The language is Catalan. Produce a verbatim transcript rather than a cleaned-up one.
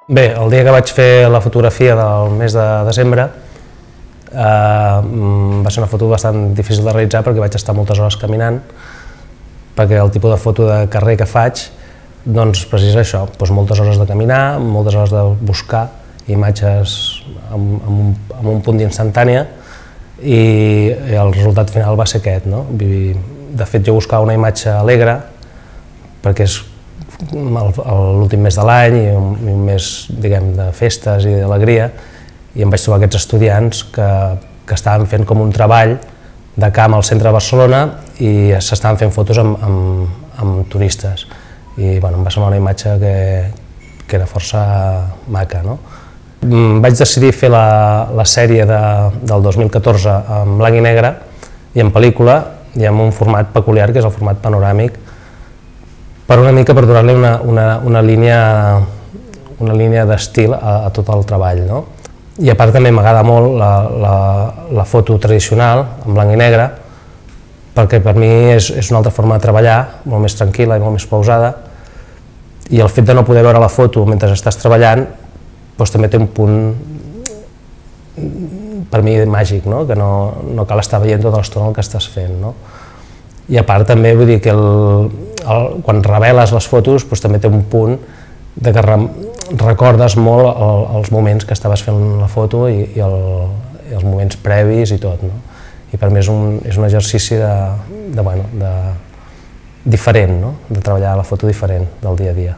Bé, el dia que vaig fer la fotografia del mes de desembre eh, va ser una foto bastant difícil de realitzar perquè vaig estar moltes hores caminant, perquè el tipus de foto de carrer que faig doncs precisa això, doncs moltes hores de caminar, moltes hores de buscar imatges amb, amb, un, amb un punt d'instantània i, i el resultat final va ser aquest, no? De fet, jo buscava una imatge alegre perquè és l'últim mes de l'any i un, un mes, diguem, de festes i d'alegria, i em vaig trobar aquests estudiants que, que estaven fent com un treball de camp al centre de Barcelona i s'estaven fent fotos amb, amb, amb turistes. I bueno, em va semblar una imatge que, que era força maca, no? Vaig decidir fer la, la sèrie de, del dos mil catorze en blanc i negre i en pel·lícula i amb un format peculiar que és el format panoràmic, per una mica per donar-li una, una, una línia, una línia d'estil a, a tot el treball, no? I a part també m'agrada molt la, la, la foto tradicional, en blanc i negre, perquè per mi és, és una altra forma de treballar, molt més tranquil·la i molt més pausada, i el fet de no poder veure la foto mentre estàs treballant doncs també té un punt, per mi, màgic, no? Que no, no cal estar veient tota l'estona el que estàs fent, no? I a part també vull dir que el, el, quan reveles les fotos doncs també té un punt de que re, recordes molt el, els moments que estaves fent la foto i, i, el, i els moments previs i tot, no? I per mi és un, és un exercici de, de, bueno, de, diferent, no? De treballar la foto diferent del dia a dia.